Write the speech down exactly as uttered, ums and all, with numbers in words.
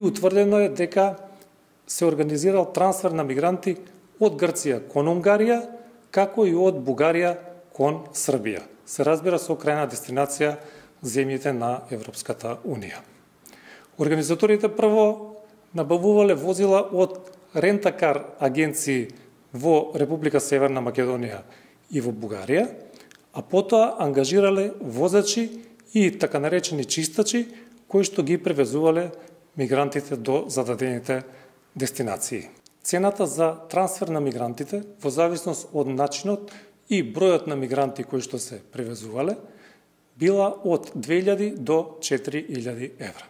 Утврдено е дека се организирал трансфер на мигранти од Грција кон Унгарија, како и од Бугарија кон Србија. Се разбира со крајна дестинација земјите на Европската Унија. Организаторите прво набавувале возила од рентакар агенции во Република Северна Македонија и во Бугарија, а потоа ангажирале возачи и така наречени чистачи кои што ги превезувале мигрантите до зададените дестинации. Цената за трансфер на мигрантите, во зависност од начинот и бројот на мигранти кои што се превезувале, била од две илјади до четири илјади евра.